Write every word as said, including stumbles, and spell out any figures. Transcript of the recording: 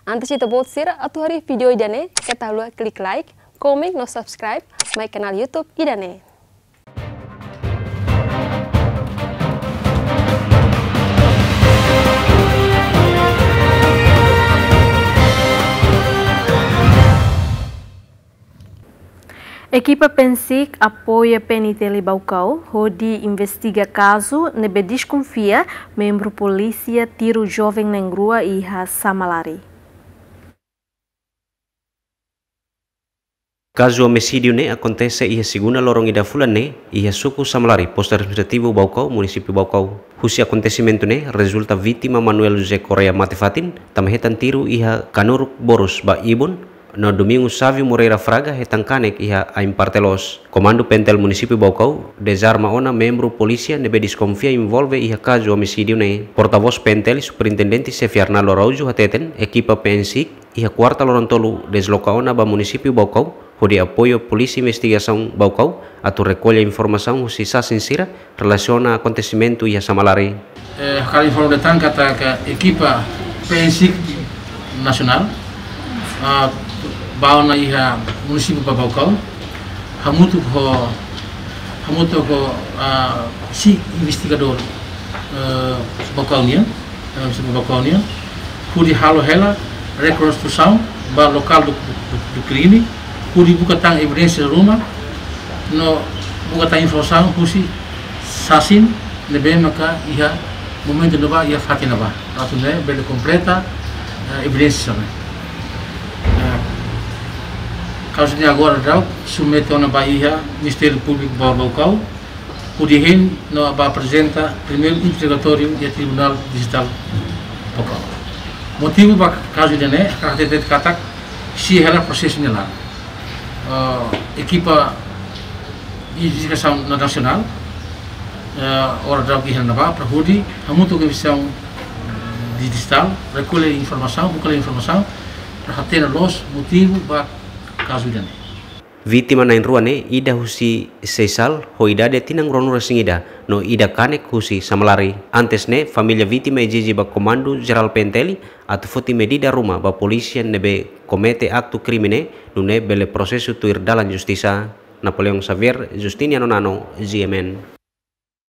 Antes ita-boot sira atu haree vídeo ida-ne'e, keta haluha klik like, komen no subscribe mai kanál YouTube ida-ne'e. Ekipa PNSIK apoia PNTL Baucau hodi investiga kazu ne'ebé deskonfia membru polísia tiru joven na'in-rua iha Samalari. Kazu omisídiu ne'e akontese iha segunda loron ida fulan ne'e, iha suku Samalari, Postu Administrativu Baucau, Munisípiu Baucau. Husi akontesimentu ne'e rezulta vítima Manuel José Correia mate-fatin, tanba hetan tiru iha kanuruk borus ba ibun, no Domingo Sávio Moreira Fraga hetan kanek iha ain parte loos. Komandu PNTL Munisípiu Baucau dezarma ona membru polísia ne'ebé deskonfia envolve iha kazu omisídiu ne'e. Portavós PNTL, Superintendente Xefe Arnaldo Araújo hateten, ekipa PNSIK iha kuarta loron tolu dezloka ona ba Munisípiu Baucau, hodi apoia Polísia Investigasaun Baucau atu rekolla informasaun husi sasin sira relasiona akontesimentu iha Samalari. Eh, hakarak informa de'it katak ekipa PNSIK nasionál, ah, bá ona iha Munisípiu ba Baucau, hamutuk ho, hamutuk ho, ah, SIK investigadór, eh, Baucau nian, eh, Munisípiu Baucau nian, hodi halo hela rekonstrusaun ba lokál do, do, do, do krime, hodi buka tan evidénsia ruma, no buka tan informasaun husi sasin ne'ebé maka iha momentu ne'ebá, iha fatin ne'ebá. Atu nune'e bele kompleta, eh, evidénsia ne'e. Eh, kazu ne'e agora daudaun submete ona ba iha Ministériu Públiku ba Baucau, hodi hein no bá aprezenta primeiru interrogatóriu iha Tribunál Distritál Baucau. Motivu ba kazu ida-ne'e, hakarak hatete katak simu hela prosesu ne'e laran. Eh, ekipa investigasaun nasionál, eh, agora daudaun iha ne'ebá, para hodi hamutuk ho investigasaun distritál, rekolla informasaun, buka informasaun, para hatene loos motivu ba kazu ida-ne'e. Vítima na'in-rua ne'e, ida husi Seisal, ho idade tinan ruanulu-resin-ida, no ida kanek husi Samalari. Antes ne'e, família vítima ezije ba Komandu Jerál PNTL atu foti medida ruma ba polísia ne'ebé komete aktu krime ne'e, nune'e bele prosesu tuir dalan justisa. Napoleão Xavier, Justiniano Nano, GMN.